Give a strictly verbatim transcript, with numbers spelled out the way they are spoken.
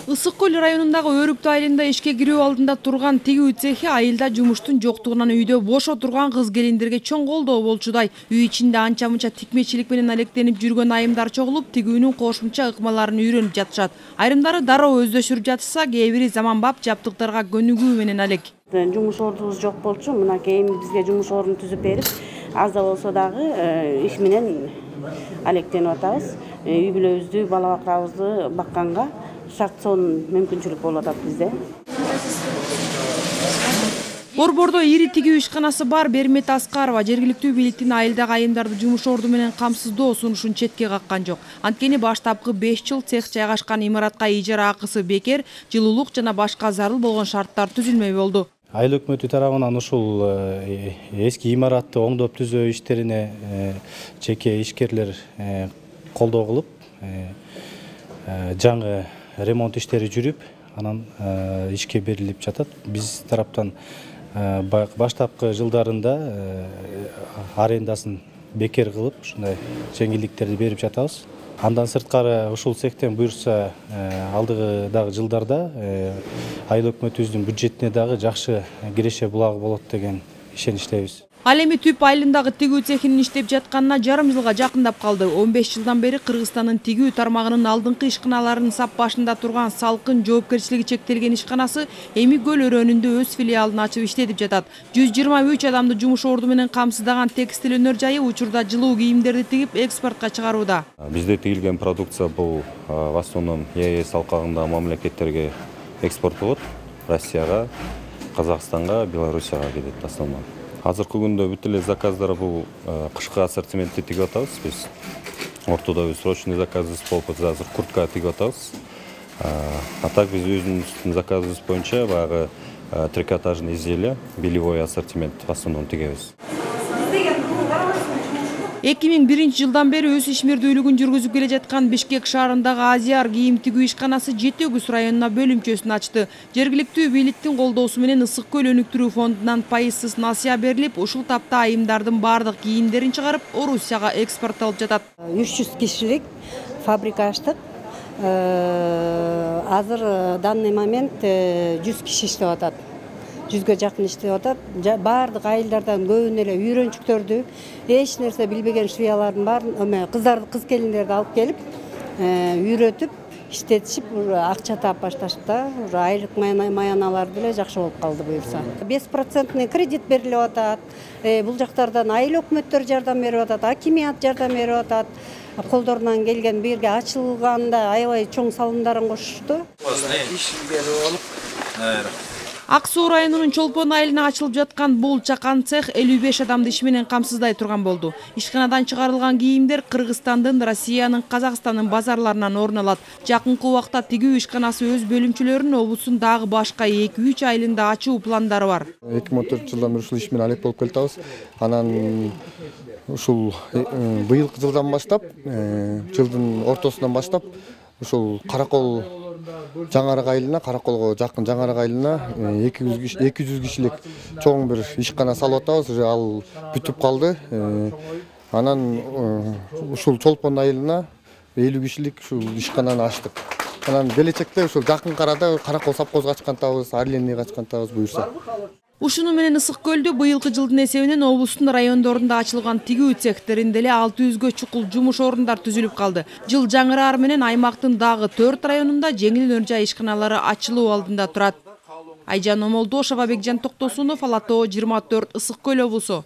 Ысык көл районундагы Өрүктү айылында ишке кирүү алдында турган тигүү цехи айылда жумуштун жоктугунан үйдө бошо турган кыз келиндерге чоң колдоо болчудай. Үй ичинде анча мынча тикмечилик менен алектенип жүргөн айымдар чогулуп, тигүүнүн кошумча ыкмаларын үйрөнүп жатышат. Айрымдары дароо өздөшүрүп жатышса, кээ бири заманбап жабдыктарга көнүгүү менен алек. Жумуш ордубуз жок болчу, мына кийин бизге жумуш ордун түзүп берип, аз да болсо дагы иш менен алектенип атабыз. Үй бүлөбүздү, бала бакырабызды бакканга шарт сонун мүмкүнчүлүк болуп атат бизде. Борбордо ири тигүү ишканасы бар Бермет Аскарова жергиликтүү бийликтин айылдагы айымдарды жумуш орду менен камсыздоо сунушун четке каккан жок. Анткени баштапкы беш жыл цех жайгашкан имаратка ижара акысы бекер, жылуулук жана башка зарыл болгон шарттар түзүлмөй болду. Айыл өкмөтү тарабынан ушул эски имаратты оңдоп түзөө иштерине жеке ишкерлер колдоо кылып, жаңы ремонт иштери жүрүп, анан ишке берилип жатат. Биз тараптан баштапкы жылдарында арендасын бекер кылып, ушундай жеңилдиктерди берип жатабыз. Андан сырткары ушул цехтен буюрса, алдыгы дагы жылдарда айыл өкмөтүбүздүн бюджетине дагы жакшы киреше булагы болот деген ишеничтебиз. Ал эми Түп айылындагы тигүү цехинин иштеп жатканына жарым жылга жакындап калды. он беш жылдан бери Кыргызстандын тигүү тармагынын алдыңкы ишканаларынын сап башында турган Салкын жоопкерчилиги чектелген ишканасы эми көл өрөөнүндө өз филиалын ачып иштетип жатат. жүз жыйырма үч адамды жумуш орду менен камсыздаган текстил өнөр жайы учурда жылуу кийимдерди тигип экспортко чыгарууда. Бизде тигилген продукция бул в основном Е Е С алкагындагы мамлекеттерге экспорт болот. Россияга, Казакстанга, Белоруссияга кетет в основном. Азыркы күндө бүт эле заказдар бул кышкы ассортиментти тигип атабыз. Биз ортодо срочный заказыбыз болуп атат, азыр куртка тигип атабыз. А так биз өзүбүздүн заказыбыз боюнча баягы трикотажный изделия, белевой ассортимент в основном тигебиз. эки миң биринчи жылдан бери өз ишмердүүлүгүн жүргүзүп келе жаткан Бишкек шаарындагы Азияр кийим тигүү ишканасы Жети Өгүз районуна бөлүмчөсүн ачты. Жергиликтүү бийликтин колдоосу менен Ысык көл өнүктүрүү фондунан пайызсыз насыя берилип, ушул тапта айымдардын бардык кийимдерин чыгарып, Орусияга экспорттолуп жатат. үч жүз кишилик фабрика ачтык. Азыр данный момент жүз киши иштеп атат. жүзгө жакын иштеп атат. Бардык айылдардан көбүнө эле үйрөнчүктөрдү, эч нерсе билбеген шуялардын баарын, кыздарды, кыз келиндерди алып келип, үйрөтүп, иштетишип, акча таап башташта, айлык маяналар деле жакшы болуп калды буюрса. беш проценттный кредит берилип атат. Бул жактардан айыл өкмөттөр жардам берип атат, акимият жардам берип атат. Колдорунан келген бирге ачылганда аябай чоң салымдарын кошушту. Ак Суу районунун Чолпон айылына ачылып жаткан бул чакан цех элүү беш адамды иш менен камсыздай турган болду. Ишканадан чыгарылган кийимдер Кыргызстандын, Россиянын, Казакстандын базарларынан орун алат. Жакынкы убакта тигүү ишканасы өз бөлүмчөлөрүн облустун дагы башка эки үч айылында ачуу пландары бар. эки миң он төртүнчү жылдан бери ушул иш менен алек болуп келатабыз. Анан ушул быйылкы жылдан баштап, жылдын ортосунан баштап ушул Каракол Жаңарак айылына, Караколго жакын Жаңарак айылына эки жүз кишилик чоң бир ишкана салып атабыз. Уже ал бүтүп калды. Анан ушул Чолпон айылына элүү кишилик ушул ишкананы ачтык. Анан келечекте ушул жакын арада Каракол совхозго ачкантабыз, Орленныйга ачкантабыз буюрса. Ушуну менен Ысык көлдө быйылкы жылдын эсебинен облустун райондорунда ачылган тигүү цехтеринде эле алты жүзгө чукул жумуш орундар түзүлүп калды. Жыл жаңыраар менен аймактын дагы төрт районунда жеңил өнөр жай ишканалары ачылуу алдында турат. Айжан Омолдошова, Бекжан Токтосунов, Ала Тоо жыйырма төрт, Ысык көл облусу.